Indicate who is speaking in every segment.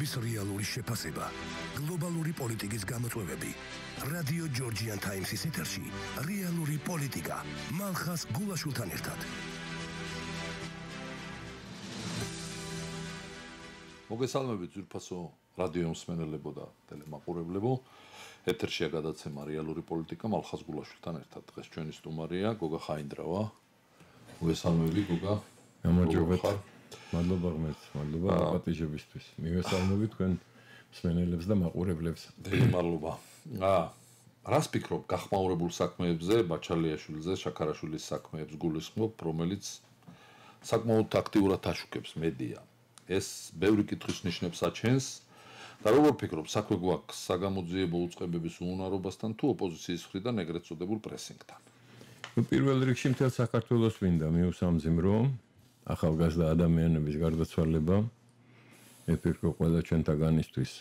Speaker 1: ცხოვრების რეალური შეფასება, გლობალური პოლიტიკის გამოწვევები. რადიო ჯორჯიან ტაიმსის ეთერში რეალური პოლიტიკა. მალხას გულაშვილთან ერთად.
Speaker 2: მოგესალმებით ძვირფასო რადიო მსმენელებო და ტელემაყურებლებო. ეთერშია გადაცემა რეალური პოლიტიკა მალხას გულაშვილთან ერთად. დღეს ჩვენი სტუმარია გოგა ხაინდრავა. მოგესალმები გოგა.
Speaker 3: გამარჯობათ. მადლობა ღმერთს, მადლობა პატიჟებისთვის. მივესალმები თქვენ მსმენელებს და მაყურებლებს.
Speaker 2: დიდი მადლობა. რას ფიქრობ გახმაურებულ საქმეებზე, ბაჩალიაშვილზე, შაქარაშვილის საქმეებს გულისხმობ, რომელიც საკმაოდ აქტიურად აშუქებს მედია. ეს ბევრი კითხვის ნიშნებს აჩენს და როგორ ფიქრობ, საქმე გვაქვს საგამოძიებო უწყებების უუნარობასთან თუ ოპოზიციის მხრიდან ეგრეთ წოდებულ პრესინგთან?
Speaker 3: პირველ რიგში მთელ საქართველოს მინდა მიუსამძიმრო ახალგაზრდა ადამიანების გარდაცვალება. მე ფიქრობ, ყველა ჩვენთაგანისთვის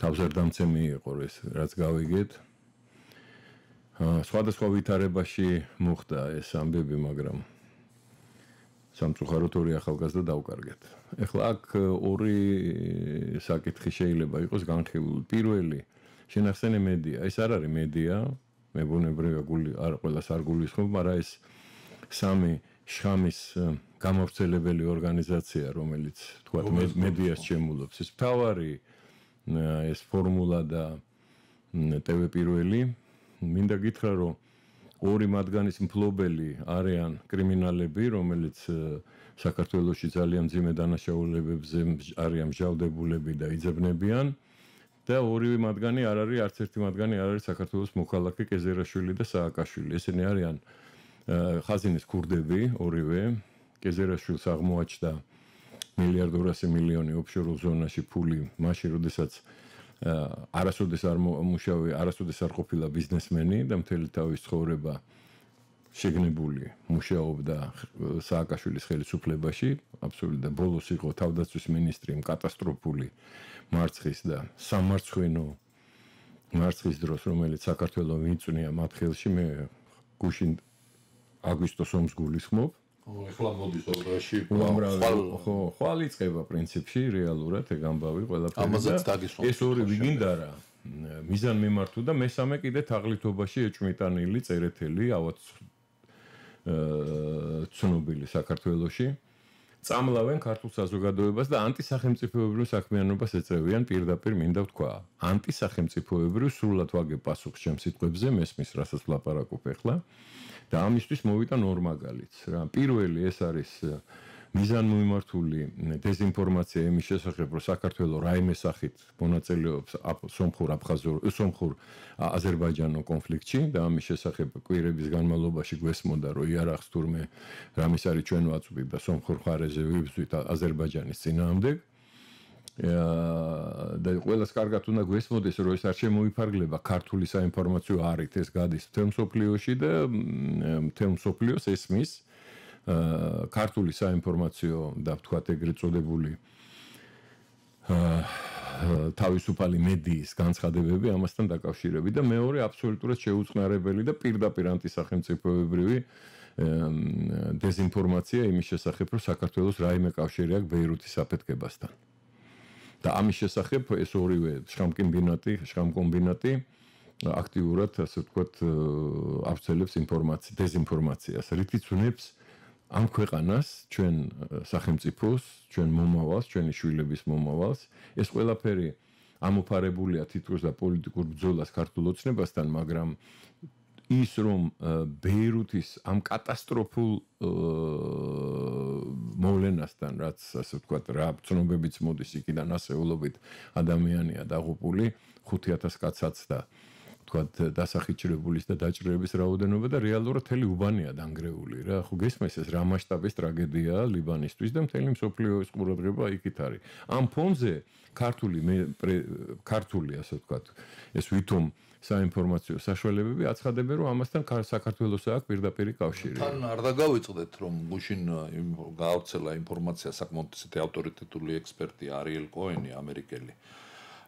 Speaker 3: თავზარდამცემი იყო ეს, რაც გავიგეთ. სხვადასხვა ვითარებაში მოხდა ეს ამბები, მაგრამ სამწუხაროდ ორი ახალგაზრდა დავკარგეთ. ეხლა აქ ორი საკითხი შეიძლება იყოს განხილული. პირველი, შენახსენე მედია. ეს არ არის მედია, მებუნებრივია არ ყველას არ გულისხმობ, მაგრამ ეს სამი შხამის გამავრცელებელი ორგანიზაცია, რომელიც თქვათ მედიას შემულობს. ეს მთავარი ეს ფორმულა და TV პირველი. მინდა გითხრა, რომ ორი მათგანის მფლობელი არიან კრიმინალები, რომელიც საქართველოში ძალიან მძიმე დანაშაულებებზე არიან მსჯავრდებულები და იძებნებიან და ორივე მათგანი არ არის, არც ერთი მათგანი არ არის საქართველოს მოქალაქე კეზერაშვილი და სააკაშვილი. ესენი არიან ხაზინის ქურდები ორივე. კეზერაშვილს აღმოაჩნდა 1,200,000,000 ოფშორულ ზონაში ფული მაშინ, როდესაც არასოდეს არ მუშავე, არასოდეს არ ყოფილა ბიზნესმენი და მთელი თავის ცხოვრება შეგნებული მუშაობდა სააკაშვილის ხელისუფლებაში, აბსოლუტურად და ბოლოს იყო თავდაცვის მინისტრი კატასტროფული მარცხის და სამარცხვინო მარცხის დროს, რომელიც საქართველოს მიწვნია მათ ხელში. მე გუშინ აგვისტოს ომს გულისხმობ.
Speaker 2: ეხლა მოდის ოღონდ
Speaker 3: ხვალ იწყება პრინციპში რეალურად ეგ ამბავი ყველაფერი.
Speaker 2: ამაზეც დაგისვამ.
Speaker 3: ეს ორი ვიგინდა რა მიზანმიმართო და მესამე კიდე თაღლითობაში ეჭვმიტანილი წერეთელი ავად ცნობილი საქართველოში. წამლავენ ქართულ საზოგადოებას და ანტისახელმწიფოებრივ საქმიანობას ეწევიან პირდაპირ მინდა ვთქვა. ანტისახელმწიფოებრივ სრულად ვაგებ პასუხს ჩემს სიტყვებზე, მესმის რასაც ვლაპარაკობ ახლა. და ამისთვის მოვიდა ორ მაგალითს რა. პირველი ეს არის მიზანმიმართული დეზინფორმაცია იმის შესახებ, რომ საქართველოს რაიმე სახით მონაწილეობს სომხურ აზერბაიჯანულ კონფლიქტში და ამის შესახებ კვირების განმავლობაში გვესმოდა, რომ იარაღს თურმე რამის არის ჩვენ ვაწვდით და სომხურ მხარეზე ვიბრძვით აზერბაიჯანის წინააღმდეგ. და ყველას კარგად უნდა გვესმოდეს, რომ ეს არ შემოიფარგლება ქართული საინფორმაციო არით, ეს გადის მთელ მსოფლიოში და მთელ მსოფლიოს ესმის ქართული საინფორმაციო და ვთქვათ ეგრეთ წოდებული თავისუფალი მედიის განცხადებები ამასთან დაკავშირებით და მეორე აბსოლუტურად შეუწყნარებელი და პირდაპირ ანტისახელმწიფოებრივი დეზინფორმაცია იმის შესახებ, რომ საქართველოს რაიმე კავშირი აქვს ბეირუთის აფეთქებასთან. და ამის შესახებ ეს ორივე შხამკომბინატი აქტიურად, ასე ვთქვათ, ავრცელებს დეზინფორმაციას, რითიც უნებს ამ ქვეყანას, ჩვენ სახელმწიფოს, ჩვენ მომავალს, ჩვენი შვილების მომავალს. ეს ყველაფერი ამოფარებულია თითქოს და პოლიტიკურ ბრძოლას ქართულ ოცნებასთან, მაგრამ ის რომ ბეირუთის ამ კატასტროფულ მოვლენასთან, რაც ასე ვთქვათ, რა ცნობებიც მოდის იქიდან ასეულობით ადამიანია დაღუპული, 5,000 კაცაც და ვთქვათ დასახიჩრებულის და დაჭრების რაოდენობა და რეალურად მთელი უბანია დანგრეული რა. ხო გესმის ეს რა მასშტაბის ტრაგედიაა ლიბანისთვის და მთელი მსოფლიოს ყურადღება იქით არის. ამ ფონზე ქართული ასე ვთქვათ, ეს ვითომ საინფორმაციო საშუალებები აცხადებენ, რომ ამასთან საქართველოს აქვს პირდაპირი კავშირი.
Speaker 2: თან არ დაგავიწყდეთ, რომ გუშინ გაავრცელა ინფორმაცია საკმაოდ ისეთი ავტორიტეტული ექსპერტი არიელ კოენი, ამერიკელი,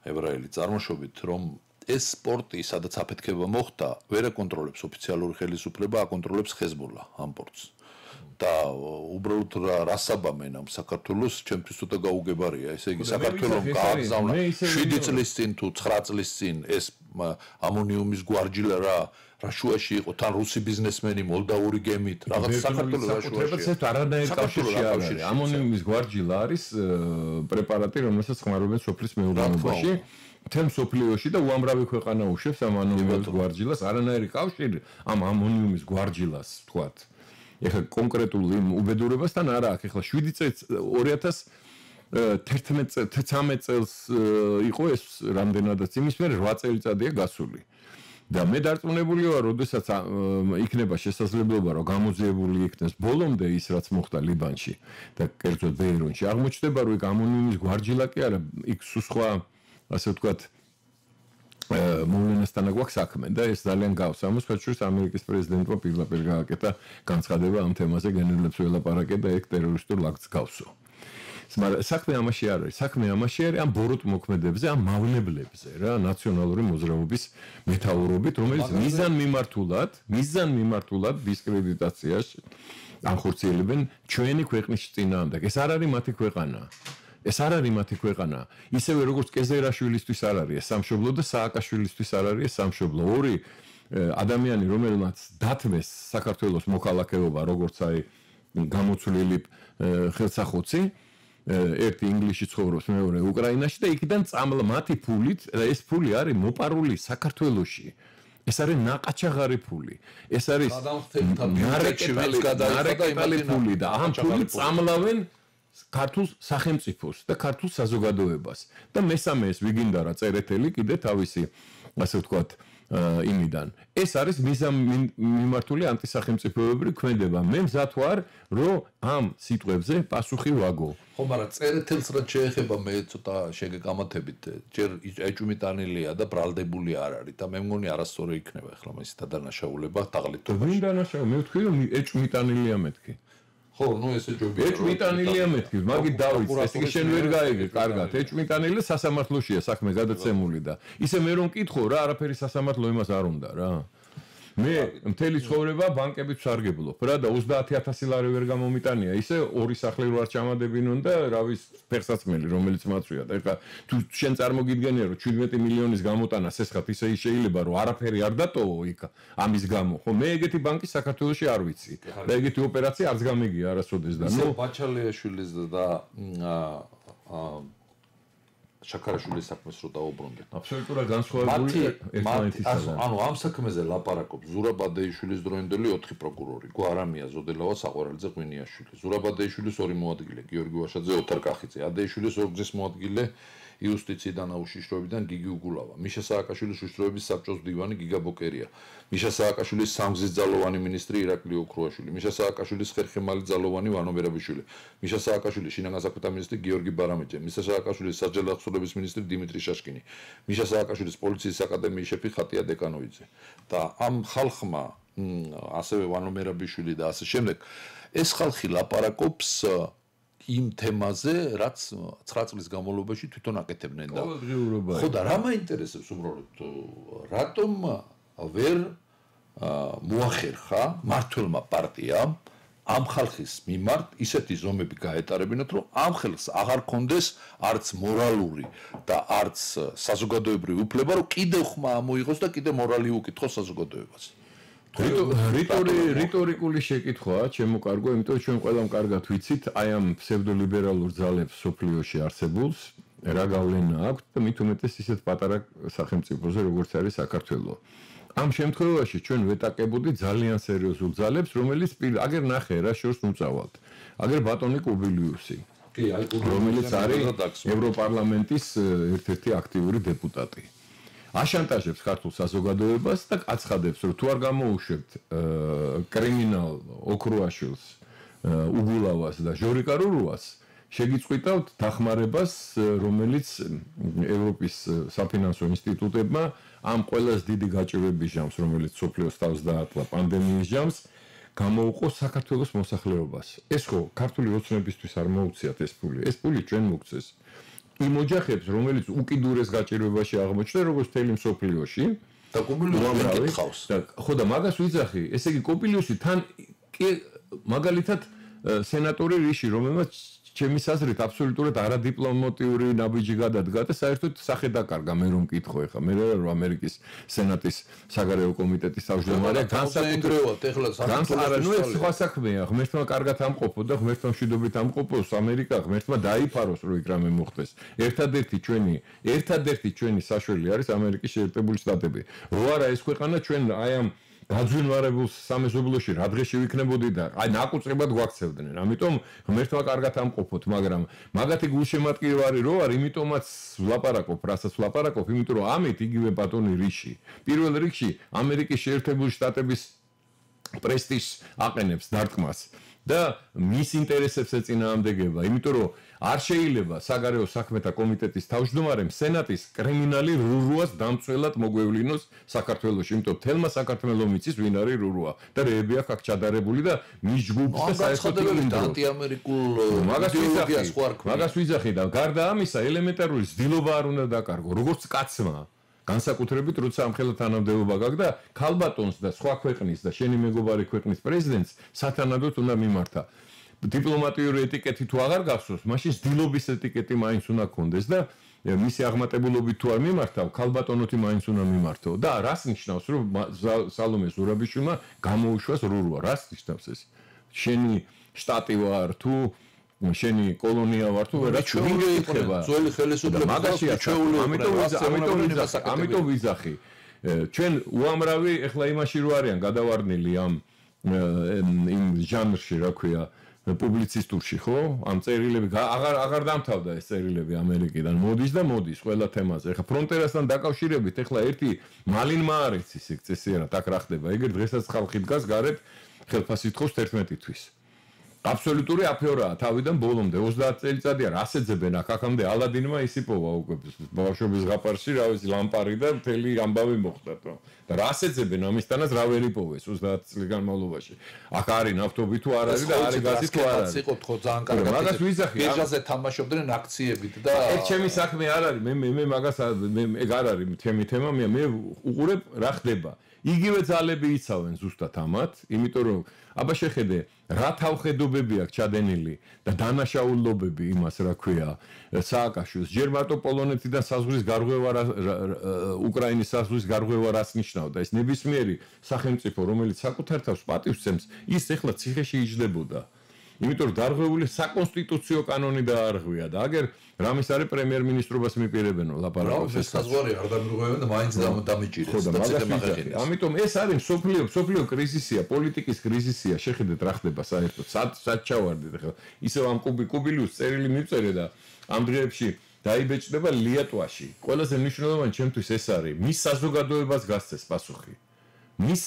Speaker 2: ებრაელი წარმოშობით, რომ ეს სპორტი, სადაც აფეთქება მოხდა, ვერ აკონტროლებს ოფიციალური ხელისუფლება, აკონტროლებს ხეზბოლა ამ პორტს. და უბრალოდ რასაბამენ ამ საქართველოს ჩემთვის ცოტა გაუგებარია. ესე იგი საქართველოს გააგზავნა 7 წლის წინ თუ 9 წლის წინ ეს ამონიუმის გვარჯილა რა შუაში იყო თან რუსი ბიზნესმენი მოლდავური გემით რაღაც საქართველოს
Speaker 3: საკუთრებაც არანაირ კავშირში არ არის. ამონიუმის გვარჯილა არის პრეპარატი, რომელსაც ხმარობენ სოფლის მეურნეობაში. თემ სოფლიოში და უამრავი ქვეყანა უშვებს ამ ამონიუმის გვარჯილას, არანაირი კავშირი ამ ამონიუმის გვარჯილას, თქვათ. ეხლა კონკრეტულ უბედურებასთან არა აქვს. ეხლა 7 წელს 2013 წელს იყო ეს რამდენადაც იმის მერე 8 წელიწადია გასული. და მე დარწმუნებული ვარ, როდესაც იქნება შესაძლებლობა, რომ გამოძიებული იქნეს ბოლომდე ის, რაც მოხდა ლიბანში და კერძოდ ბეირუნში, აღმოჩნდება, რომ იქ ამონიუმის გვარჯილა კი არა, იქ სხვა ასე ვთქვათ მოვლენასთან აქვს საქმე და ეს ძალიან გავს. ამას ხოჭუს ამერიკის პრეზიდენტმა პირდაპირ გააკეთა განცხადება ამ თემაზე, გენერლებს ველაპარაკე და ეგ ტერორისტულ აქტს გავსო. მაგრამ საქმე ამაში არ არის. საქმე ამაში არის ამ ბოროტ მოქმედებზე, ამ მავნებლებზე რა, ნაციონალური მოძრაობის მეთაურობით, რომელიც მიზან მიმართულად დისკრედიტაციაში ახორციელებენ ჩვენი ქვეყნის წინააღმდეგ. ეს არ არის მათი ქვეყანა. ეს არ არის მათი ქვეყანა. ისევე როგორც კეზერაშვილისთვის არ არის ეს სამშობლო და სააკაშვილისთვის არ არის ეს სამშობლო. ორი ადამიანი, რომელმაც დათმეს საქართველოს მოქალაქეობა, როგორც აი გამოცვლილი ხელსახოცი, ერთი ინგლისში ცხოვრობს, მეორე უკრაინაში და იქიდან წამლა მათი ფულით, ეს ფული არის მოპარული საქართველოში. ეს არის ნაყაჩაღარი ფული. ეს არის ნარეკეტალი ფული და ამ ფულით წამლავენ ქართულ სახელმწიფოს და ქართულ საზოგადოებას. და მესამე ეს ვიგინდა რა წერეთელი კიდე თავისი ასე ვთქვათ იმიდან. ეს არის მიმართული ანტისახელმწიფოებრივი ქმედება. მე მზად ვარ, რომ ამ სიტყვებზე პასუხი ვაგო.
Speaker 2: ხო, მაგრამ წერეთელს რაც შეეხება მე ცოტა შეგეკამათებით, ჯერ ეჭვმიტანილია და ბრალდებული არ არის და მე მგონი არასწორი იქნება ახლა მისი დადანაშაულება თაღლითობაში.
Speaker 3: ვინ დანაშაული? მე ვთქვი რომ ეჭვმიტანილია მეთქი.
Speaker 2: ხო, ნუ ესე ჯობია.
Speaker 3: ეჭვმიტანილია მეთქი, მაგით დავიც, ეს იგი შენ ვერ გაიგე, კარგად. ეჭვმიტანილი სასამართლოშია საქმე გადაცემული და ისე მე რომ მკითხო რა, არაფერი სასამართლო იმას არ უნდა რა. მე მთელი ცხოვრება ბანკებით ვსარგებლობ რა და 30000 ლარი ვერ გამომიტანია. ისე ორი სახლი რო არ ჩამადებინონ და რავის ფერსაცმელი რომელიც მაწვია და ეხლა თუ შენ წარმოგიდგენია რომ 17 მილიონის გამოტანას ესხათ ისე შეიძლება რომ არაფერი არ დატოვო იქ ამის გამო. ხო, მე ეგეთი ბანკი საქართველოში არ ვიცი და ეგეთი ოპერაცია არც გამიგია არასოდეს და
Speaker 2: ნუ ბაჩალიაშვილის და შაქარაშვილის საქმეს რო დაუბრუნდეთ.
Speaker 3: აბსოლუტურად განსხვავებული ერთმანეთისგან.
Speaker 2: ანუ ამ საქმეზე ლაპარაკობს ზურაბ ადეიშვილის დროინდელი 4 პროკურორი, გვარამია ზოდელავა საყვარელიძე ღვინიაშვილი. ზურაბ ადეიშვილის 2 მოადგილე, გიორგი ვაშაძე, ოთარ კახიძე, ადეიშვილის ორგზის მოადგილე იუსტიციიდან აუშიშროებიდან გიგი უგულავა, მიშა სააკაშვილის უშიშროების საბჭოს მდივანი გიგა ბოკერია, მიშა სააკაშვილის სამგზის ძალოვანი მინისტრი ირაკლი ოქრუაშვილი, მიშა სააკაშვილის ხერხემალი ძალოვანი ვანო მერაბიშვილი, მიშა სააკაშვილის შინაგან საქმეთა მინისტრი გიორგი ბარამიძე, მიშა სააკაშვილის საჯარო აღსრულების მინისტრი დიმიტრი შაშკინი, მიშა სააკაშვილის პოლიციის აკადემიის შეფი ხატია დეკანოვიძე. და ამ ხალხმა ასევე ვანო მერაბიშვილი და ასე შემდეგ ეს ხალხი ლაპარაკობს იმ თემაზე, რაც 9 წლის განმავლობაში თვითონ აკეთებდნენ და ხო და რა მაინტერესებს უბრალოდ რატომ ვერ მოახერხა მართლმა პარტიამ ამ ხალხის მიმართ ისეთი ზომები გაეტარებინათ, რომ ამ ხალხს აღარ კონდეს არც მორალური და არც საზოგადოებრივი უფლება, რომ კიდევ ხმა ამოიღოს და კიდევ მორალი უკითხოს საზოგადოებას.
Speaker 3: რიტორიკული შეკითხვაა, ჩემო კარგო, იმიტომ რომ ჩვენ ყველამ კარგად ვიცით, აი ამ ფსევდოლიბერალურ ძალებს სოფლიოში არსებულს რა გავლენა აქვს და მით უმეტეს ისეთ პატარა სახელმწიფოზე, როგორც არის საქართველო. ამ შემთხვევაში ჩვენ ვეტაკებოდით ძალიან სერიოზულ ძალებს, რომელიც აგერ ნახე რა შორს მუწავალთ. აგერ ბატონი კუბილიუსი, რომელიც არის ევროპარლამენტის ერთ-ერთი აქტიური დეპუტატი. აშანტაჟებს ქართულ საზოგადოებას და აცხადებს, რომ თუ არ გამოუშვებთ კრიმინალ ოქრუაშვილს, უგულავას და ჟორიკა რურუას, შეგიწყვიტავთ დახმარებას, რომელიც ევროპის საფინანსო ინსტიტუტებმა ამ ყველას დიდი გაჭირვების ჟამს, რომელიც სოფლიოს თავს დაატლა პანდემიის ჟამს, გამოუყოს საქართველოს მოსახლეობას. ეს ხო ქართული ოცნებისთვის არ მოუციათ ეს ფული. ეს ფული ჩვენ მოგცეს. იმ ოჯახებს, რომელიც უკიდურეს გაჭირვებაში აღმოჩნდნენ, როგორც თელი მსოფლიოში
Speaker 2: და კოპილიუსი ეკითხავს.
Speaker 3: ხო და მაგას ვიძახი, ესე იგი კოპილიუსი თან მაგალითად სენატორი რიში, რომელმაც ჩემის აზრით აბსოლუტურად არადიპლომატიური ნაბიჯი გადადგა და საერთოდ სახე დაკარგა მე რომ მკითხო ეხლა მე რომ ამერიკის სენატის საგარეო კომიტეტის თავმჯდომარე
Speaker 2: განსაკუთრებულად ეხლა
Speaker 3: საქართველოს ეს სხვა საქმეა ღმერთმა კარგად ამყოფო და ღმერთმა მშვიდობით ამყოფოს ამერიკა ღმერთმა დაიფაროს რომ იქ რამე მოხდეს ერთადერთი ჩვენი საშველი არის ამერიკის შეერთებული შტატები რო არა ეს ქვეყანა ჩვენ აი ამ გაძვინვარებულ სამეზობლოში რა დღეში ვიქნებოდი და აი ნაკუწებად გვაქცევდნენ. ამიტომ ღმერთმა კარგად ამყოფოთ, მაგრამ მაგათი გულშემატკივარი რო არ, იმიტომაც ვლაპარაკობ, რასაც ვლაპარაკობ, იმიტომ რომ ამით იგივე ბატონი რიში. პირველ რიგში ამერიკის შეერთებული შტატების პრესტიჟს აყენებს დარტყმას და მის ინტერესებს ეწინააღმდეგება, იმიტომ რომ არ შეიძლება საგარეო საქმეთა კომიტეტის თავმჯდომარემ სენატის კრიმინალი რურუას დამცველად მოგვევლინოს საქართველოში, იმიტომ თელმა საქართველოს მიცის ვინ არის რურუა და რეები აქ ჩადარებული და მის ჯგუფს და საერთოდ
Speaker 2: ანტიამერიკულ იდეოლოგიას ხო არ ქונה.
Speaker 3: მაგას ვიძახი და გარდა ამისა ელემენტარული ძდილობა არ უნდა დაკარგო, როგორც კაცმა. განსაკუთრებით როცა ამხელა თანამდებობა გაქვს და ქალბატონს და სხვა ქვეყნის და შენი მეგობარი ქვეყნის პრეზიდენტს სათანადოდ უნდა მიმართა. დიპლომატიური ეტიკეტი თუ აღარ გახსოვს, მაშინ ძილობის ეტიკეტი მაინც უნდა გქონდეს და მისი აღმატებულობით თუ არ მიმართავ, ქალბატონოთი მაინც უნდა მიმართო. და რას ნიშნავს, რომ სალომე ზურაბიშვილმა გამოუშვას რურუა? რას ნიშნავს ეს? შენი შტატი ვარ თუ შენი კოლონია ვარ თუ ვერა
Speaker 2: ჩუიგეიქნება ძველი ხელისუფლების
Speaker 3: ამიტომ ვიზახი ჩვენ უამრავი ეხლა იმაში რო არიან გადავარდნილი ამ იმ ჟანრში რა ქვია პუბლიცისტურში ხო ამ წერილები აღარ დამთავრდა ეს წერილები ამერიკიდან მოდის ყველა თემაზე ეხლა ფრონტერასთან დაკავშირებით ეხლა ერთი მალინმა არ იცის იქ წესიერად აქ რა ხდება ეგრე დღესაც ხალხი დგას გარეთ ხელფასით ხოს 11 თვის აბსოლუტური აფეორაა თავიდან ბოლომდე 30 წელიწადია რას ეძებენ აქამდე ალადინმა ისიპოვა უკვე ბავშვობის ზღაპარში რა ვიცი ლამპარი და მთელი ამბავი მოხდათო და რას ეძებენ ამისთანაც რა ვერ იპოვეს 30 წლის განმავლობაში აქ არის ნავთობი თუ არ არის და არის გაზი თუ არ არის
Speaker 2: იყოთ ხო ძალიან კარგად
Speaker 3: მაგას ვიზახი
Speaker 2: ბირჟაზე თამაშობდნენ აქციებით და
Speaker 3: ეს ჩემი საქმე არ არის მე მაგას ეგ არ არის ჩემი თემა მე უყურებ რა ხდება იგივე ძალები იცავენ ზუსტად ამათ იმიტომ რომ აბა შეხედე რა თავხედობები აქვს ჩადენილი და დანაშაულობები იმას რა ქვია სააკაშვილს ჯერ მარტო პოლონეთიდან საზღვრის გარღვევა უკრაინის საზღვრის გარღვევა რას ნიშნავდა ეს ნებისმიერი სახელმწიფო რომელიც საკუთარ თავს პატივს ცემს ის ეხლა ციხეში იჯდებოდა იმიტომ რომ დარღვეული საკონსტიტუციო კანონი დაარღვია და აგერ რამის არის პრემიერ-მინისტრობას მიპირებენო ლაპარაკობს
Speaker 2: ეს საზღვარი არ დამირღვევენ და მაინც დამიჭირეს და ციხე
Speaker 3: ამიტომ ეს არის სოფლიო კრიზისია პოლიტიკის კრიზისია შეხედეთ რა ხდება საერთოდ სად ჩავარდით ახლა ისევ ამ კუბილიუს წერილი მივწერე და ამ დღეებში დაიბეჭდება ლიატვაში ყველაზე მნიშვნელოვანი ჩემთვის ეს არის მის საზოგადოებას გასცეს პასუხი მის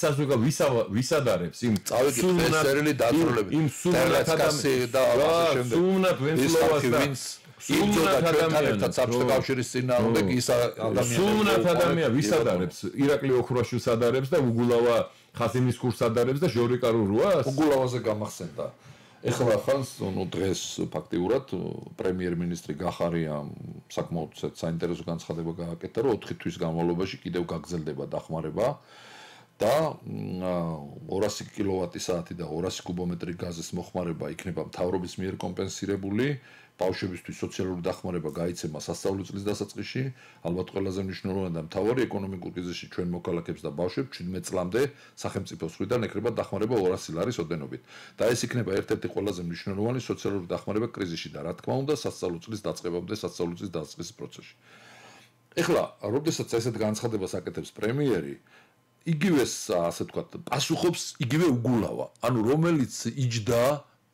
Speaker 3: ვისადარებს იმ
Speaker 2: წერილი დაწვრილებით
Speaker 3: იმ სულნათ ადამიანს და ამავე შემდეგ სულნათ ადამიანს
Speaker 2: კავშირის წინააღმდეგ ის ადამიანი
Speaker 3: სულნათ ადამიანს ვისადარებს ირაკლი ოქროაშვილს ადარებს და უგულავა ხაზინის კურს ადარებს და ჟორიკა რურუას
Speaker 2: უგულავაზე გამახსენდა ეხლა ხანს დღეს ფაქტიურად პრემიერ-მინისტრი გახარია საკმაოდ საინტერესო განცხადება გააკეთა რომ 4 თვის განმავლობაში კიდევ გაგრძელდება დახმარება და 200 კილოვატი-საათი და 200 კუბომეტრი გაზის მოხმარება იქნება მთავრობის მიერ კომპენსირებული ბავშვებისთვის სოციალური დახმარება გაიცემა სასწავლო წლის დასაწყისში ალბათ ყველაზე მნიშვნელოვანი და მთავარი ეკონომიკურ კრიზისში ჩვენ მოქალაქეებს და ბავშვებს 17 წლამდე სახელმწიფოს მხრიდან ეკრება დახმარება 200 ლარის ოდენობით და ეს იქნება ერთ-ერთი ყველაზე მნიშვნელოვანი სოციალური დახმარება კრიზისში და რა თქმა უნდა სასწავლო წლის დაწყებამდე სასწავლო წლის დასაწყისის პროცესში ეხლა როდესაც ესეთ განცხადებას აკეთებს პრემიერი იგივეს ასე ვთქვათ პასუხობს იგივე უგულავა ანუ რომელიც იჯდა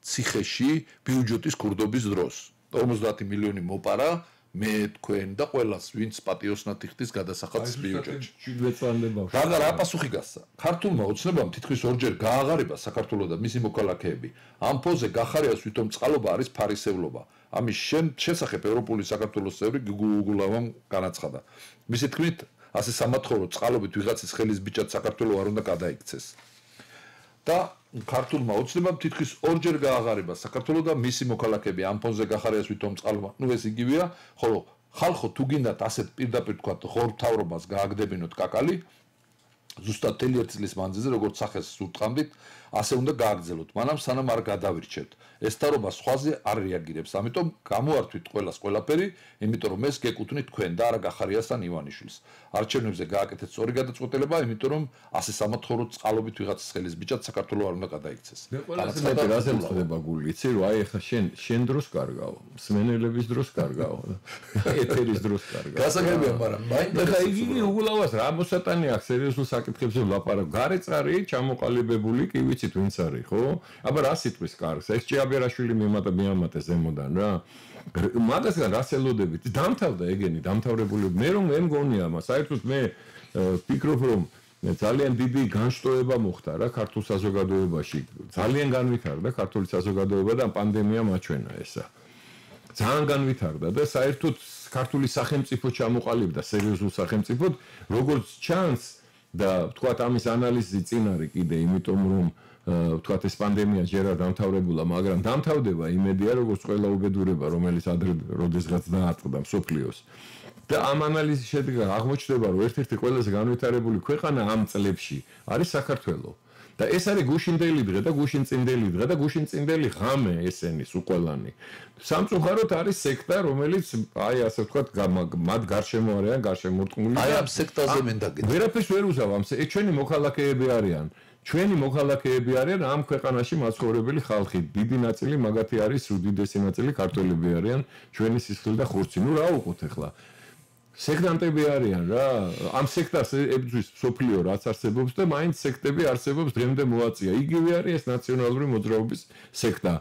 Speaker 2: ციხეში ბიუჯეტის ქურდობის დროს 50 მილიონი მოპარა მე თქვენ და ყველას ვინც პატიოსნად იხდის გადასახადის ბიუჯეტში
Speaker 3: 17 წლამდე ბავშვი
Speaker 2: რა პასუხი გასცა ქართულმა ოცნებამ თითქმის ორჯერ გააღარიბა საქართველოს და მისი მოქალაქეები ამ ფონზე გახარიას ვითომ წყალობა არის ფარისევლობა ამის შესახებ ევროპული საქართველოს წევრი გუგულავამ განაცხადა მისი თქმით ასე სამათხოვრო წყალობით ვიღაცის ხელის ბიჭად საქართველოს არ უნდა გადაიქცეს და ქართულმა ოცნებამ თითქმის ორჯერ გააღარიბა საქართველოს და მისი მოქალაქეები ამ ფონზე გახარიას ვითომ წყალობა ნუ ეს იგივეა ხოლო ხალხო თუ გინდათ ასეთ პირდაპირ თქვა ხორთავრობას გააგდებინოთ კაკალი ზუსტად 1 წლის მანძილზე როგორც სახეს უტყამდით ასე უნდა გააგრძელოთ, მანამ სანამ არ გადავირჩევთ. ეს თარობა სხვაზე არ რეაგირებს, ამიტომ გამოართვით ყველაფერი, იმიტომ რომ ეს გეკუთვნით თქვენ და არა გახარიასთან ივანიშვილს. არჩევნებზე გააკეთეთ სწორი გადაწყვეტილება, იმიტომ რომ ასე სამათხოვრო წყალობით ვიღაცის ხელის ბიჭად საქართველოს არ უნდა გადაიქცეს.
Speaker 3: მე რაზე მწდება გული, იცი რომ აი ახლა შენ დროს კარგავ, მსმენელების დროს კარგავ, ეთერის დროს კარგავ.
Speaker 2: გასაგებია, მაგრამ
Speaker 3: და იგი უგულავას რა მოსატანი აქვს სერიოზულ საკითხებზე ვლაპარაკ. გარეწარი ჩამოყალიბებული კი ვიცით ვინც არის, ხო? აბა რა სიტყვის კარგს? ეს ჭიაბერაშვილი მიამატე ზემოდან რა. მაგასგან რას ელოდებით? დამთავრდა ეგენი, დამთავრებული. მე მგონია, საერთოდ მე ვფიქრობ რომ ძალიან დიდი განშტოება მოხდა რა ქართულ საზოგადოებაში. ძალიან განვითარდა ქართული საზოგადოება და პანდემიამ აჩვენა ესა. ძალიან განვითარდა და საერთოდ ქართული სახელმწიფო ჩამოყალიბდა სერიოზულ სახელმწიფოდ, როგორც ჩანს და თქვათ ამის ანალიზი წინ არის კიდე, იმიტომ რომ თქვათ ეს პანდემია ჯერ არ დამთავრებულა, მაგრამ დამთავრდება იმედია, როგორც ყველა უბედურება, რომელიც ადრე როდესღაც დაატყდა მსოფლიოს. და ამ ანალიზის შედეგად აღმოჩნდება, რომ ერთ-ერთი ყველაზე განვითარებული ქვეყანა ამ წლებში არის საქართველო. და ეს არის გუშინდელი დღე და გუშინწინდელი დღე და გუშინწინდელი ღამე ესენის უყოლანი. სამწუხაროდ არის სექტა, რომელიც აი ასე ვთქვათ, მათ გარშემო არიან, გარშემორტყმული.
Speaker 2: აი ამ სექტაზე მენდაგეთ.
Speaker 3: ვერაფერს ვერ უზავ ამ ჩვენი მოქალაქეები არიან. ჩვენი მოქალაქეები არიან ამ ქვეყანაში მაცხოვრებელი ხალხი. დიდი ნაწილი მაგათი არის, უდიდესი ნაწილი ქართველები არიან, ჩვენი სისხლი და ხურცი. ნუ რა უყოთ ახლა? სექტანტები არიან რა. ამ სექტას ებრძვის სოფლიო რაც არსებობს და მაინც სექტები არსებობს დღემდე მოაწია. იგივე არის ეს ნაციონალური მოძრაობის სექტა.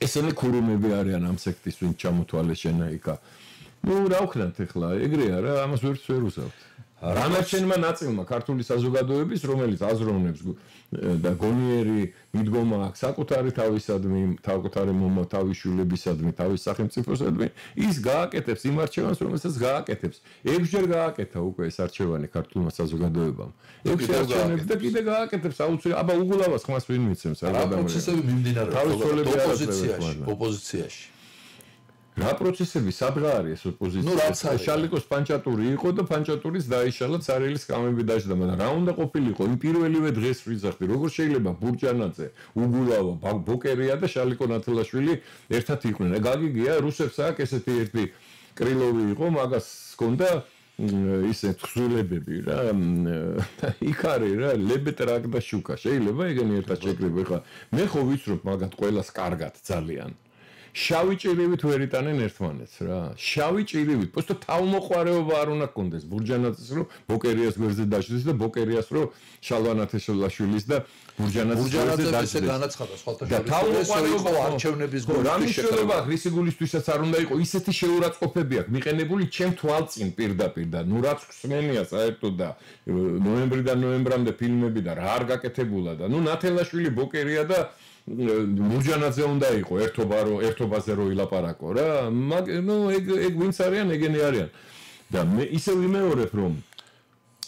Speaker 3: ესენი ქურუმები არიან ამ სექტის ვინც ჩამოთვალეს შენაიკა. ნუ რა ვქნათ ახლა? ეგრეა რა, ამას ვერ უზავთ. რამაჩენმა ნაწილმა ქართული საზოგადოების, რომელიც აზროვნებს და გონიერი მიდგომა აქვს საკუთარი თავისადმი, საკუთარი თავისშვილებისადმი, თავის სახელმწიფოსადმი, ის გააკეთებს იმ არჩევანს, რომელსაც გააკეთებს. 6 ჯერ გააკეთა უკვე ეს არჩევანი ქართულმა საზოგადოებამ. 6 არჩევნები და კიდე გააკეთებს აუცილებლად. აბა უგულავას ხმას ვინ მიცემს
Speaker 2: რა პროცესები მიმდინარეობს ოპოზიციაში.
Speaker 3: რა პროცესები სადღა არის ეს ოპოზიცია? შალიკოს პანჭატური იყო და პანჭატურის დაიშალა цаრილის კამები დაждდა, მაგრამ რა უნდა ყოფილიყო? იმ პირველივე დღეს ვიზახდი, როგორ შეიძლება ბურჯანაძე, უგულავა, ბოკერია და შალიკო ნათელაშვილი ერთად იყვნენ. გაგიგია რუსებს აქვს ესეთი ერთი კრილოვი იყო, მაგას ჰქონდა ისე თხზულებები რა. იქ არის რა, ლებეტრაკ და შუკა. შეიძლება ეგენი ერთად შეკრიბო ხა. მე ხო ვიცრობ მაგათ ყველას კარგად ძალიან. შავი ჭირივით ვერ იტანენ ერთმანეთს რა. შავი ჭირივით, просто თავმოყარეობა არ უნდა გქონდეს ბურჯანაძის რომ ბოკერიას გვერდზე დაждდეს და ბოკერიას რომ შალვანათეშვილაშვილის და ბურჯანაძის გვერდზე დაждდეს.
Speaker 2: განაცხადა სხვათა შორის იყო არჩევნების
Speaker 3: გულისთვის შეხედება. რისი გულისთვისაც არ უნდა იყო ისეთი შეურაცხყოფები აქვს მიყენებული ჩემ თვალწინ პირდაპირ და ნუ რაც ხსნენია საერთოდ და ნოემბრიდან ნოემბრამდე ფილმები და რა არ გაკეთებულა და ნუ ნათელაშვილი ბოკერია და ბურჯანაძე უნდა იყო ერთობაზე რო ილაპარაკო რა. ნუ ეგ ვინც არიან, ეგენი არიან. და მე ისე ვიმეორებ რომ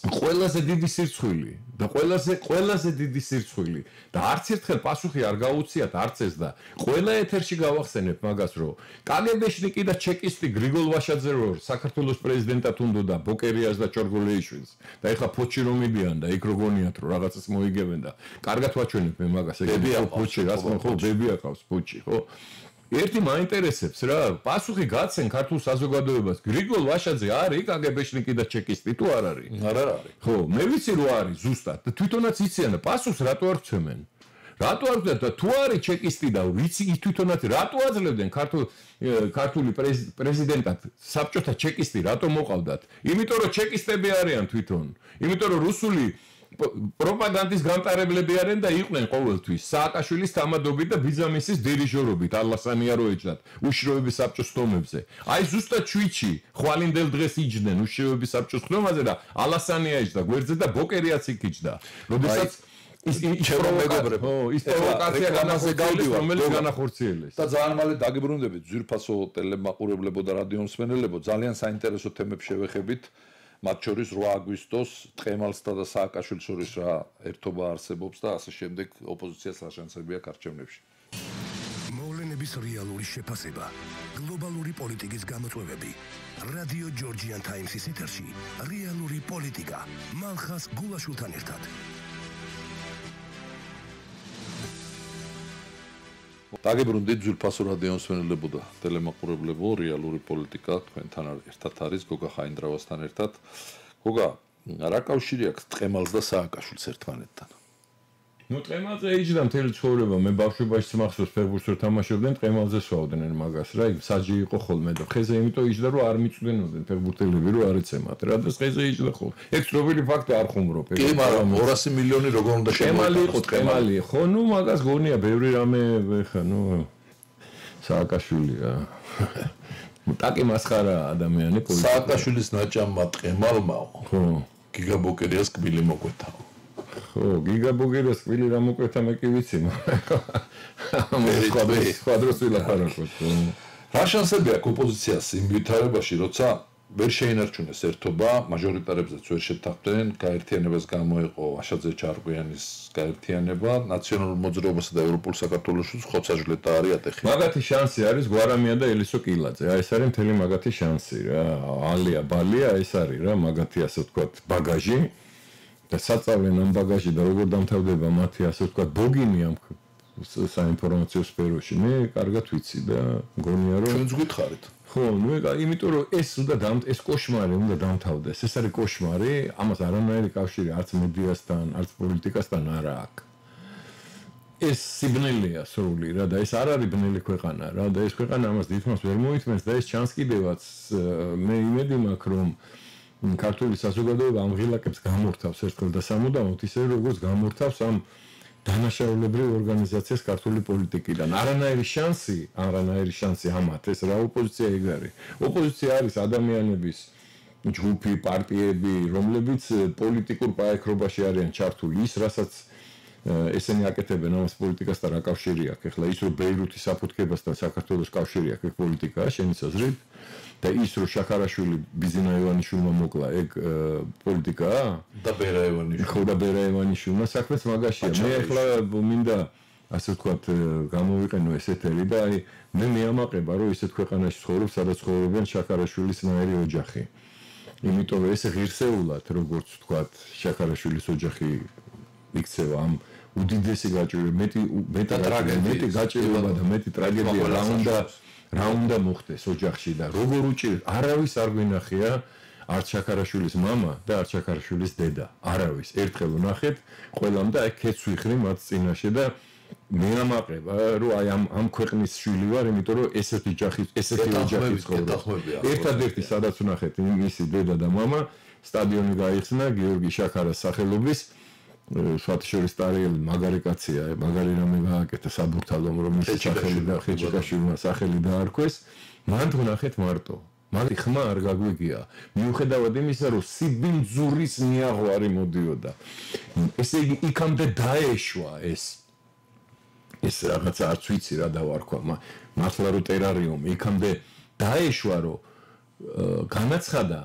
Speaker 3: ყველაზე დიდი სირცხვილი და ყველაზე დიდი სირცხვილი და არც ერთხელ პასუხი არ გაუციათ არც ეს და ყველა ეთერში გავახსენებ მაგას რომ კაგებეშნიკი და ჩეკისტი გრიგოლ ვაშაძე რო საქართველოს პრეზიდენტად უნდოდა ბოკერიას და ჩორგოლეიშვილს და ეხლა ფოჩი რომ მიდიან და იქ როგონიათ რომ რაღაცას მოიგებენ და კარგად ვაჩვენებ მე მაგას ეგ ფოჩი რას ხო ბები აკავს ფოჩი ხო ერთი მაინტერესებს რა პასუხი გაცენ ქართულ საზოგადოებას გრიგოლ ვაშაძე არის კაგებეშნიკი და ჩეკისტი თუ არ არის
Speaker 2: არ არის
Speaker 3: ხო მე ვიცი რომ არის ზუსტად და თვითონაც იციან და პასუხს რატო არ ვცემენ რატო არ ვცემენ და თუ არის ჩეკისტი და ვიცი თვითონაც რატო აძლევდნენ ქართული პრეზიდენტად საბჭოთა ჩეკისტი რატო მოყავდათ იმიტომ რომ ჩეკისტები არიან თვითონ იმიტომ რომ რუსული პროპაგანდის გამტარებლები არიან და იყვნენ ყოველთვის სააკაშვილის თამადობით და ბიძამისის დირიჟორობით ალასანია რო ეჭდათ უშროების საბჭოს ხდომებზე აი ზუსტად ჩვიჩი ხვალინდელ დღეს იჯდნენ უშროების საბჭოს ხდომაზე და ალასანია ეჭდა გვერდზე და ბოკერიაც იქ იჯდა როდესაც ის პროვოკაცია განახორციელეს რომელიც განახორციელეს
Speaker 2: და ძალიან მალე დაგიბრუნდებით ძვირფასო ტელემაყურებლებო და რადიო მსმენელებო ძალიან საინტერესო თემებს შევეხებით მათ შორის 8 აგვისტოს ტყემალსა და სააკაშვილის შორის რა ერთობა არსებობს და ასე შემდეგ ოპოზიციას რა შანსები აქვს არჩევნებში.
Speaker 1: მოვლენების რეალური შეფასება, გლობალური პოლიტიკის გამოწვევები. რადიო ჯორჯიან ტაიმსის ეთერში რეალური პოლიტიკა. მალხას გულაშვილთან ერთად.
Speaker 2: დაგებრუნდით ძვირფასო რადიო მსმენელებო და ტელემაყურებლებო, რეალური პოლიტიკა თქვენთან ერთად არის გოგა ხაინდრავასთან ერთად. გოგა, რა კავშირი აქვს ტყემალს და სააკაშვილს ერთმანეთთან?
Speaker 3: ნუ ტყემალზე იჯდა მთელი ცხოვრება, მე ბავშვობაში მახსოვს ფეხბურთს რო თამაშობდნენ, ტყემალზე სვავდნენ მაგას რა, საჯი იყო ხოლმე და ხეზე იმიტომ იჯდა რომ არ მიწვდენოდნენ ფეხბურთელები რომ არ ეცემათ რა და ხეზე იჯდა ხოლმე. ეგ ცნობილი ფაქტი არ ხუმრობ.
Speaker 2: კი, მაგრამ 200 მილიონი როგორ უნდა
Speaker 3: შემოიყო ტყემალი, ხო, ნუ მაგას გონია ბევრი რამე ხა, ნუ სააკაშვილი რა. ტაკი მასხარა ადამიანი პოლიტიკა.
Speaker 2: სააკაშვილის ნაჭამმა ტყემალმა ხო გიგაბოკერიას კბილი მოკვეთა.
Speaker 3: ხო, გიგაბოგერას კვილი რა მოკვეთა მე კი ვიცი, მაგრამ სხვა დროს ვილაპარაკოთ.
Speaker 2: რა შანსები აქვს ოპოზიციას იმ ვითარებაში, როცა ვერ შეინარჩუნეს ერთობა, მაჟორიტარებზეც ვერ შეთანხმდნენ, გაერთიანებას გამოეყო აშაძე ჩარკვიანის გაერთიანება, ნაციონალურ მოძრაობასა და ევროპულ საქართველოსში ხოცაჟლეტა არის ატეხი.
Speaker 3: მაგათი შანსი არის გვარამია და ელისო კილაძე. აი ეს არის მთელი მაგათი შანსი რა. ალია ბალია ეს არის რა, მაგათი ასე ვთქვათ ბაგაჟი. და საწავლენ ამ ბაგაჟი და როგორ დამთავრდება მათი ასე ვთქვათ ბოგინი ამ საინფორმაციო სფეროში. მე კარგად ვიცი და მგონია რომ
Speaker 2: ჩვენც გითხარით.
Speaker 3: ხო, ნუ იმიტომ რომ ეს ეს კოშმარი უნდა დამთავრდეს. ეს არის კოშმარი, ამას არანაირი კავშირი არც მედიასთან, არც პოლიტიკასთან არ აქვს. ეს სიბნელეა სრული რა და ეს არ არის ბნელი ქვეყანა რა და ეს ქვეყანა ამას დიდხანს ვერ მოითმენს და ეს ჩანს კიდევაც მე იმედი მაქვს რომ ქართული საზოგადოება ამ ღილაკებს გამორთავს ერთხელ და სამუდამოდ ისე როგორც გამორთავს ამ დანაშაულებრივ ორგანიზაციას ქართული პოლიტიკიდან. არანაირი შანსი ამათ ეს რა ოპოზიცია ეგ არის. ოპოზიცია არის ადამიანების ჯგუფი, პარტიები, რომლებიც პოლიტიკურ პაექრობაში არიან ჩართული. ის რასაც ესენი აკეთებენ ამას პოლიტიკასთან რა კავშირი აქვს? ეხლა ის რომ ბეირუთის საფუძქებასთან საქართველოს კავშირი აქვს ეგ პოლიტიკაა შენი აზრით? და ის რომ შაქარაშვილი ბიზინა ივანიშვილმა მოკლა ეგ პოლიტიკაა
Speaker 2: და ბერაევანიშვილი
Speaker 3: ხო და ბერაევანიშვილმა საქმეც მაგაშია მე ახლა მინდა ასე ვთქვათ გამოვიყენო ეს ეთერი და აი მე მეამაყება რომ ისეთ ქვეყანაში ცხოვრობს სადაც ცხოვრობენ შაქარაშვილის ნაირი ოჯახი იმიტომ რომ ეს ღირსეულად როგორც ვთქვათ შაქარაშვილის ოჯახი იქცევა ამ უდიდესი გაჭირვება მეტი გაჭირვება და მეტი ტრაგედია რა უნდა მოხდეს ოჯახში და როგორ უჭირს არავის არ გვინახია არც შაქარაშვილის мама და არც შაქარაშვილის დედა არავის ერთხელ ვნახეთ ყველამ და აი ქეც ვიხრი მათ წინაშე და მე ამაყება რომ აი ამ ქვეყნის შვილი ვარ იმიტომ რომ ესეთი ოჯახი ცხოვრობს ერთადერთი სადაც ვნახეთ მისი დედა და мама სტადიონი გაიხსნა გიორგი შაქარას სახელობის შუათშორის ტარიელი მაგარი კაცია, მაგარი რამე გააკეთა საბურთალომ რომ ის სახელი და ხეჭიკაშვილმა სახელი დაარქვეს, მან ვნახეთ მარტო. მაგრამ ხმა არ გაგვიგია. მიუხედავად იმისა, რომ სიბინძურის მიაღვარი მოდიოდა. ესე იგი იქამდე დაეშვა ეს რაღაცა არც ვიცი რა დავარქვა, მართლა რომ ტერარიუმი იქამდე დაეშვა რომ განაცხადა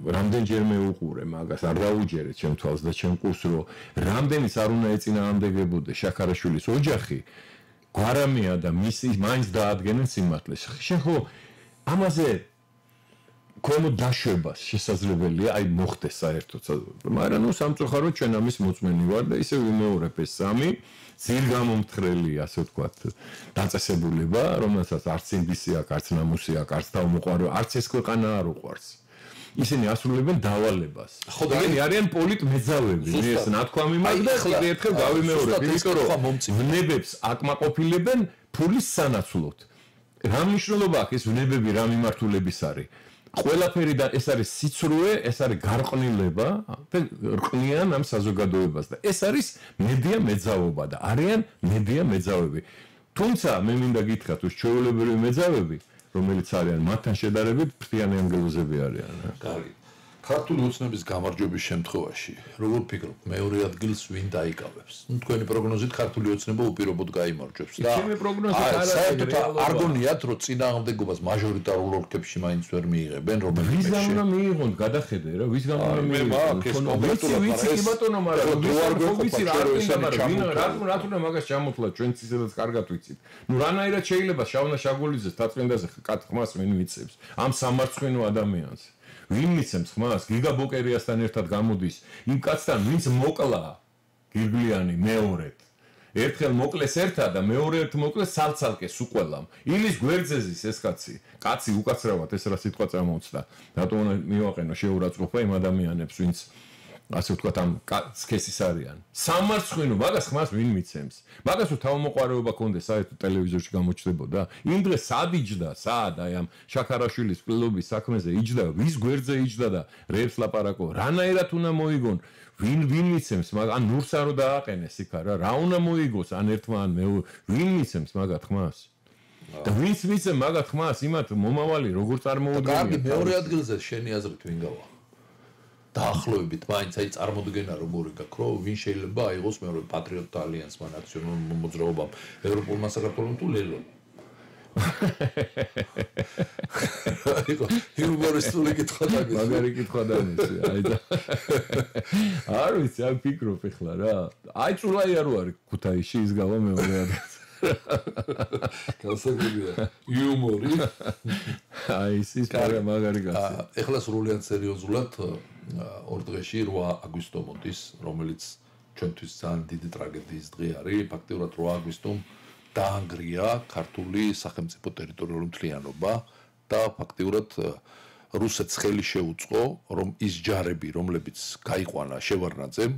Speaker 3: რამდენჯერმე უყურე მაგას არ დაუჯერეთ ჩემ თვალს და ჩემ კურს რომ რამდენიც არ უნდა ეწინააღმდეგებოდეს შაქარაშვილის ოჯახი გვარამია და მისი მაინც დაადგენენ სიმართლეს შენ ხო ამაზე ქვემოთ დაშვებას შესაძლებელია აი მოხდეს საერთოდ მაგრამ ნუ სამწუხაროდ ჩვენ ამის მოწმენი ვარ და ისე ვიმეორებ ეს სამი ძირგამომთხრელი ასე ვთქვათ დაწესებულება რომელსაც არც ინგლისი აქვს არც ნამუსი აქვს არც თავმოყარი არც ეს ქვეყანა არ უყვარს ისინი ასრულებენ დავალებას ხო და არიან პოლიტმეძავები ეს ნათქვამი მაქვს და კიდევ ერთხელ გავიმეორებ იმიტომ რომ ვნებებს აკმაყოფილებენ ფულის სანაცვლოდ რა მნიშვნელობა აქვს ეს ვნებები რა მიმართულების არის ყველაფერი და ეს არის სიცრუე, ეს არის გარყვნილება და რყნიან ამ საზოგადოებას და ეს არის მედია მეძავობა და არიან მედია მეძავები. თუმცა მე მინდა გითხრათ, თუ ჩვეულებრივი მეძავები, რომელიც არიან მათთან შედარებით ფრთიანი ანგელოზები არიან.
Speaker 2: კარგი. ქართული ოცნების გამარჯვების შემთხვევაში, როგორ ფიქრობ, მეორე ადგილს ვინ დაიკავებს? ნუ თქვენი პროგნოზით ქართული ოცნება უპირობოდ გაიმარჯვებს და
Speaker 3: ჩემი პროგნოზი
Speaker 2: საერთოდ არ გონიათ, რომ წინააღმდეგობას მაჟორიტარულ ოლქებში მაინც ვერ მიიღებენ, რომელიც
Speaker 3: ვის გამო უნდა მიიღონ, გადახედე რა, ვის გამო უნდა მიიღონ? ვიცი კი ბატონო, მაგრამ ვიცი რა არ გინდა, მაგრამ რა თქმა მაგას ჩამოთვლა ჩვენც ისედაც კარგად ვიცით. ნუ რანაირად შეიძლება შავნა შაგულიძეს თაწმინდაზე ხმას ვინ მიცემს ამ სამარცხვინო ადამიანს? ვინ მიცემს ხმას? გიგაბოკერიასთან ერთად გამოდის იმ კაცთან, ვინც მოკლა გირგლიანი მეორედ. ერთხელ მოკლეს ერთად და მეორე ერთ მოკლეს ცალ-ცალკე სუყველამ. ილის გვერდზეზის ეს კაცი უკაცრავად ეს რა სიტყვა წამოუცდა. რატომ უნდა მივაყენო შეურაცხყოფა იმ ადამიანებს, ვინც ასე ვთქვათ ამ სქესის არიან. სამარცხვინო მაგას ხმას ვინ მიცემს? მაგას თუ თავმოყარეობა კონდეს საერთოდ ტელევიზორში გამოჩნდებოდა? იმ დღეს სად იჯდა? სად აი ამ შაქარაშვილის კლუბის საქმეზე იჯდა, ვის გვერდზე იჯდა და რეებს ლაპარაკო? რანაირად უნდა მოიგონ? ვინ მიცემს? ან ნურსა რო დააყენეს იქ რა უნდა მოიგოს ან ერთმა ან მეორე? ვინ მიცემს მაგათ ხმას? და ვინც მიცემ მაგათ ხმას, იმათ მომავალი როგორ წარმოუდგენია?
Speaker 2: კარგი, მეორე ადგილზე შენი აზრით ვინ გავა? დაახლოებით მაინც აი წარმოდგენა როგორი გაქვს, რომ ვინ შეიძლება აიღოს მეორე პატრიოტთა ალიანსმა, ნაციონალურ მოძრაობამ, ევროპულმა საქართველოს თუ ლელო. აიღო, იუმორისტული კითხვა დაგეს.
Speaker 3: მაგარი კითხვა დამიცი, აი და. არ ვიცი, აი ფიქრობ ეხლა რა. აი წულაია რო არის ქუთაისში ის გავა მეორე ადგილზე.
Speaker 2: გასაგებია იუმორი.
Speaker 3: აი ის მაგარი კაცი.
Speaker 2: ეხლა სრულიად სერიოზულად ორ დღეში 8 აგვისტო მოდის, რომელიც ჩვენთვის ძალიან დიდი ტრაგედიის დღე არის. ფაქტიურად 8 აგვისტომ დაანგრია ქართული სახელმწიფო ტერიტორიული მთლიანობა და ფაქტიურად რუსეთს ხელი შეუწყო, რომ ის ჯარები, რომლებიც გაიყვანა შევარდნაძემ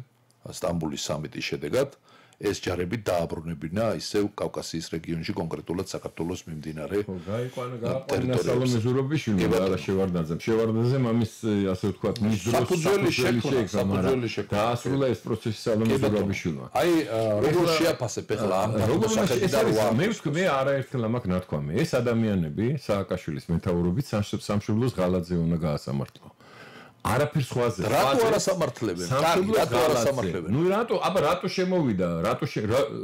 Speaker 2: სტამბოლის სამიტის შედეგად, ეს ჯარები დააბრუნებინა ისევ კავკასიის რეგიონში, კონკრეტულად საქართველოს მიმდინარე
Speaker 3: ტერიტორიებში. სალომე ზურაბიშვილმა და არა შევარდნაძემ. შევარდნაძემ ამის ასე ვთქვათ, მის დროს
Speaker 2: საფუძველი შექმნა.
Speaker 3: დაასრულა ეს პროცესი სალომე ზურაბიშვილმა.
Speaker 2: აი, როგორ შეაფასებ ახლა ამ სახელმწიფოს?
Speaker 3: მე არაერთხელ ამაკ ნათქვამი. ეს ადამიანები სააკაშვილის მეთაურობით სამშობლოს ღალატზე უნდა გაასამართლო. არაფერს ხვაზე.
Speaker 2: რატო არასამართლებენ? კარგი, რატო არასამართლებენ?
Speaker 3: ნუ რატო შემოვიდა?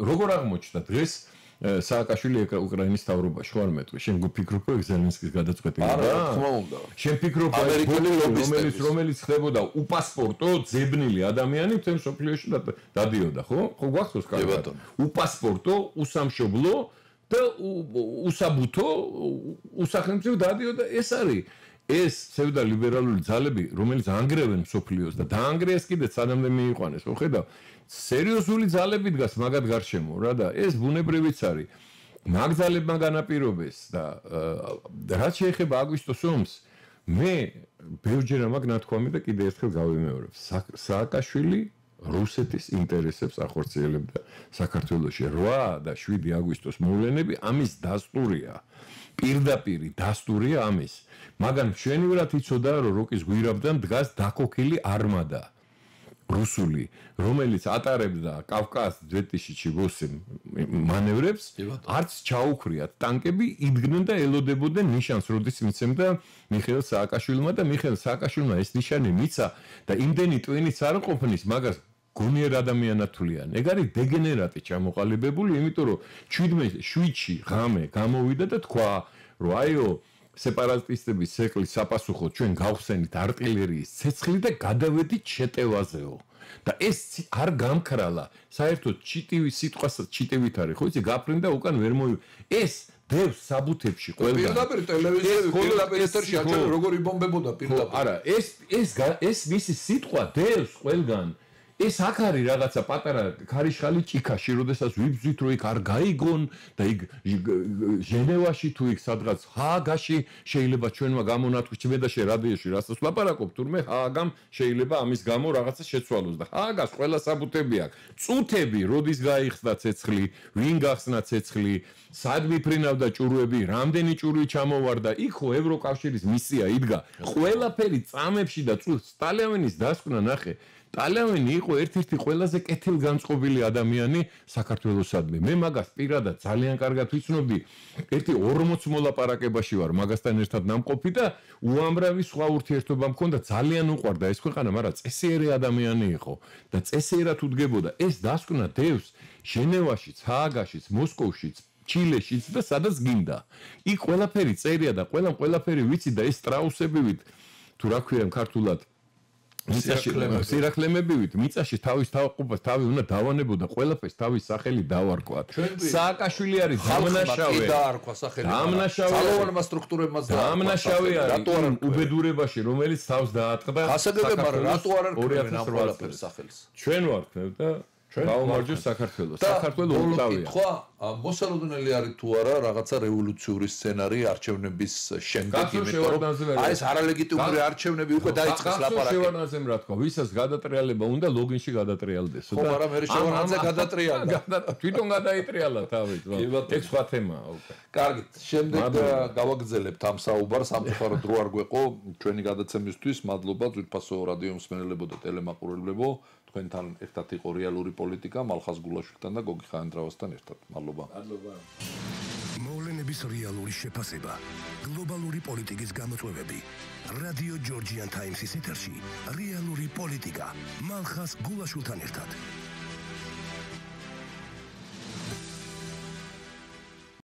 Speaker 3: როგორ აღმოჩნდა დღეს სააკაშვილი უკრაინის თავრობაში ხარ მეტყვი? შენ გფიქრობ ზელენსკის გადაწყვეტილება?
Speaker 2: არა, თქმა უნდა.
Speaker 3: შენ ფიქრობ რომელიც ხდებოდა უპასპორტო ძებნილი ადამიანი მთელ სოფლიოში დადიოდა, ხო? ხო გვახსოვს კარგად? უპასპორტო, უსამშობლო და უსაბუთო უსახელმწიფო დადიოდა. ეს არის ეს ფსევდოლიბერალური ძალები, რომელიც ანგრევენ სოფლიოს და დაანგრიეს კიდე სანამდე მიიყვანეს, ხო ხედავ? სერიოზული ძალები დგას მაგად გარშემო რა და ეს ბუნებრივიც არის. მაგ ძალებმა განაპირობეს და რაც შეეხება აგვისტოს ომს, მე ბევრჯერ ამაგ ნათქვამი და კიდე ერთხელ გავიმეორებ. სააკაშვილი რუსეთის ინტერესებს ახორციელებდა საქართველოში 8 და 7 აგვისტოს მოვლენები ამის დასტურია. პირდაპირი დასტურია ამის. მაგან მშვენივრად იცოდა, რომ როკის გვირაბდან დგას დაქოქილი არმადა რუსული, რომელიც ატარებდა კავკას 2008 მანევრებს, არც ჩაუქრიათ ტანკები, იდგნენ და ელოდებოდნენ ნიშანს, როდის მიცემდა მიხეილ სააკაშვილმა და მიხეილ სააკაშვილმა ეს ნიშანი მიცა და იმდენი ტვინიც არ ყოფნის მაგას გონიერ ადამიანად თვლიან. ეგ არის დეგენერატი ჩამოყალიბებული, იმიტომ რომ 7-ში ღამე გამოვიდა და თქვა, რომ აიო სეპარატისტების ცეკვლის საპასუხოდ ჩვენ გავხსენით არტილერიის ცეცხლი და გადავედით შეტევაზეო. და ეს არ გამქრალა. საერთოდ ჩიტივით არის, ხო იცი, გაფრინდა უკან ვერ მოი. ეს დევს საბუთებში ყველგან.
Speaker 2: პირდაპირ ტელევიზიაზე, პირდაპირ ეთერში აჩვენე როგორი ბომბებოდა პირდაპირ.
Speaker 3: არა, ეს მისი სიტყვა დევს ყველგან. ეს აქ არის რაღაცა პატარა ქარიშხალი ჭიქაში, როდესაც ვიბძვით რომ იქ არ გაიგონ და იქ ჟენევაში თუ იქ სადღაც ჰააგაში შეიძლება ჩვენმა გამონათქვი ჩმედაში რადიოში რასაც ლაპარაკობ, თურმე ჰააგამ შეიძლება ამის გამო რაღაცა შეცვალოს და ჰააგას ყველა საბუთები აქვს. წუთები, როდის გაიხსნა ცეცხლი, ვინ გახსნა ცეცხლი, სად მიფრინავდა ჭურვები, რამდენი ჭურვი ჩამოვარდა, იქ ხო ევროკავშირის მისია იდგა. ყველაფერი წამებში და სტალინელის დასკვნა ნახე. ტალიანი იყო ერთ-ერთი ყველაზე კეთილგანწყობილი ადამიანი საქართველოსადმი. მე მაგას პირადად ძალიან კარგად ვიცნობდი. ერთი 40 მოლაპარაკებაში ვარ მაგასთან ერთად ნამყოფი და უამრავი სხვა ურთიერთობა მქონდა. ძალიან უყვარდა ეს ქვეყანა, მაგრამ წესიერი ადამიანი იყო და წესიერად უდგებოდა. ეს დასკვნა დევს ჟენევაშიც, ჰააგაშიც, მოსკოვშიც, ჩილეშიც და სადაც გინდა. იქ ყველაფერი წერია და ყველაფერი ვიცი და ეს სტრაუსებივით თუ რა ქვია ქართულად სირაქლემებივით მიწაში თავის თავყოფას თავი უნდა დავანებოდა ყველაფერს თავის სახელი დავარქვათ. სააკაშვილი არის დამნაშავე.
Speaker 2: დაარქვა სახელი. ძალოვანმა სტრუქტურებმაც
Speaker 3: დაარქვა. დამნაშავე არის უბედურებაში, რომელიც თავს დაატყდა.
Speaker 2: გასაგებია, მაგრამ რატო არ არქმევენ ამ ყველაფერს სახელს?
Speaker 3: ჩვენ ვარქმევ და გაუმარჯოს საქართველოს. საქართველოს უკრავია.
Speaker 2: ხო, მოსალოდნელი არის თუ არა რაღაცა რევოლუციური სცენარი არჩევნების შემდეგ,
Speaker 3: იმიტომ რომ
Speaker 2: აი ეს არალეგიტიმური არჩევნები უკვე დაიწყეს ლაპარაკი.
Speaker 3: შევარდნაძემ რა თქვა, ვისაც გადატრიალება უნდა ლოგინში გადატრიალდეს.
Speaker 2: ხო, მაგრამ მე შევარდნაძე გადატრიალდა.
Speaker 3: თვითონ გადაიტრიალა თავით. ეს სხვა თემაა უკვე.
Speaker 2: კარგით, შემდეგ გავაგრძელებთ ამ საუბარს, სამწუხაროდ დრო არ გვეყო ჩვენი გადაცემისთვის. მადლობა ძვირფასო რადიო მსმენელებო და ტელემაყურებლებო. თქვენთან ერთად იყო რეალური პოლიტიკა მალხაზ გულაშვილთან და გოგი ხაენდრავასთან ერთად. მადლობა.
Speaker 3: მადლობა.
Speaker 1: მოვლენების რეალური შეფასება, გლობალური პოლიტიკის გამოწვევები. რადიო ჯორჯიან ტაიმსის ეთერში რეალური პოლიტიკა მალხაზ გულაშვილთან ერთად.